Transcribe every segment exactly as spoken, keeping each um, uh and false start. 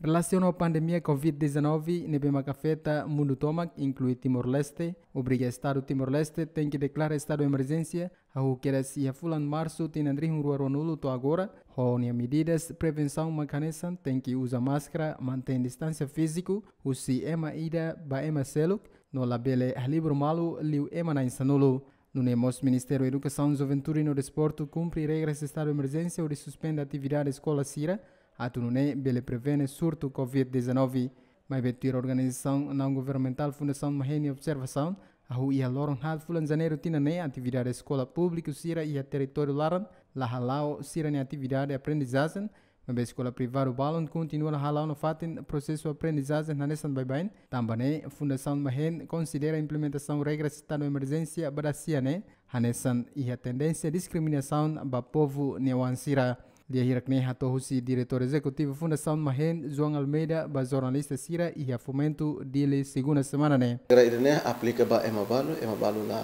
Relasiona ho pandemia covid dezanove ne'ebé mak afeta mundu tomak, inklui Timor-Leste, obriga Estadu Timor-Leste tenke deklara estadu emerjénsia, hahú kedas iha fulan Marsu tinan rihun rua ruanulu to'o agora, ho nia medidas prevensaun mak hanesan tenke uza máskara, mantein distánsia fíziku husi ema ida ba ema seluk, no labele halibur malu liu ema na'in sanulu. Nune'e mós Ministériu Edukasaun, Juventude no Desportu kumpre regras estadu emerjénsia hodi suspende atividade eskola sira, atu nune'e bele prevene surtu covid dezanove. Maibé tuir organizasaun naun-governamentál Fundasaun Mahen nia observasaun, hahú iha loron haat fulan Janeiru tinan ne'e atividade eskola públiku sira iha territóriu laran la hala'o sira-nia atividade aprendizajen, maibé eskola privadu balun kontinua la hala'o nafatin prosesu aprendizajen hanesan baibain. Tanba ne'e, Fundasaun Mahen konsidera implementasaun regras estadu emerjénsia ba dasia ne'e hanesan iha tendénsia diskriminasaun ba povu nia oan sira. Lia hirak ne'e hato'o husi Diretór Ezekutivu Fundasaun Mahen, João Almeida, ba jornalista sira iha Fomento, Dili, segunda semana ne'e. Regra ida-ne'e aplika ba ema balu, ema balu la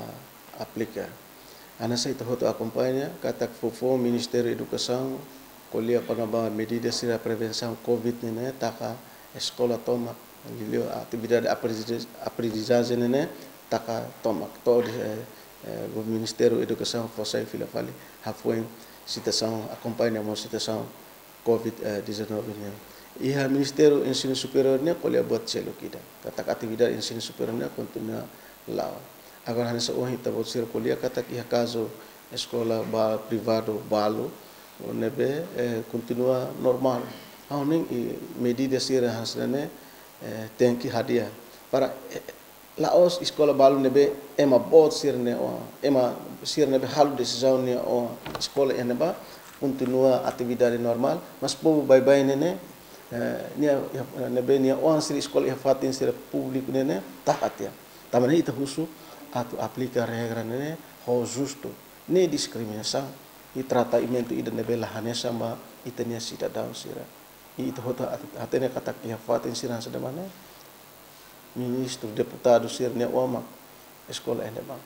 aplika. Hanesan ita hotu akompaña katak foufoun Ministériu Edukasaun ko'alia kona-ba medida sira prevensaun covid ne'e taka eskola tomak, liuliu atividade aprendiz-, aprendizajen ne'e taka tomak. To'o de'it, eh, eh, Ministériu Edukasaun fó sai fila fali hafoin situasaun, akompaña mós situasaun covid dezanove ne'e. Iha Ministériu Ensinu Superiór ne'e ko'alia buat seluk ida, katak atividade ensinu superiór ne'e kontinua la'o. Agora hanesan ohin ita-boot sira ko'alia katak iha kazu eskola ba privadu balu ne'ebé, eh, kontinua normál. Ha'u hanoin, i, medida sira hanesan ne'e, eh, tenke hadi'a para, eh, la'ós eskola balu ne'ebé ema boot sira-nia oan, ema sira ne'ebé halo desizaun nia oan eskola iha ne'ebá, kontinua atividade normál, mas povu baibain ne'e, eh, nia, ne'ebé nia oan sira eskola iha fatin sira públiku ne'e, taka tiha. Tanba ne'e ita husu atu aplika regra ne'e ho justu, ne'e diskriminasaun, i tratamentu ida ne'ebé la hanesan ba ita-nia sidadaun sira. I ita hotu hat-, hatene katak iha fatin sira hanesan ne'ebá ne'e, ministru, deputadu sira-nia oan mak eskola iha ne'ebá.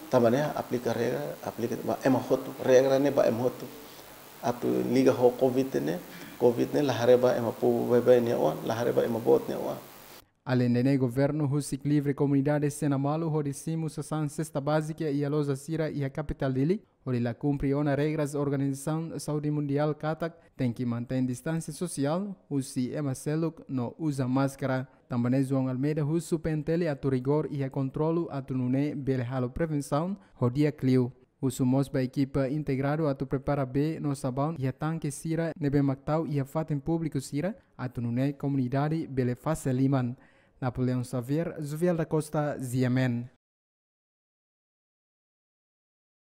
Tanba ne'e aplika regra, aplika ba ema hotu, regra ne'e ba ema hotu. Atu liga ho covid ne'e, covid ne'e la haree ba ema povu baibain nia oan, la haree ba ema boot nia oan. Aleinde ne'e, governu husik livre komunidade Senamalu hodi simu sasán sesta bázika iha loja sira iha kapitál Dili, hodi la kumpre ona regras Organizasaun Saúde Mundiál katak tenke mantein distánsia sosiál husi ema seluk no uza máskara. Tanba ne'e João Almeida husu P N T L atu rigór iha kontrolu atu nune'e bele halo prevensaun ho di'ak liu. Husu mós ba ekipa integradu atu prepara bee no sabaun iha tanke sira ne'ebé mak tau iha fatin públiku sira, atu nune'e komunidade bele fase liman. Napoleão Xavier, Jovial da Costa, G M N.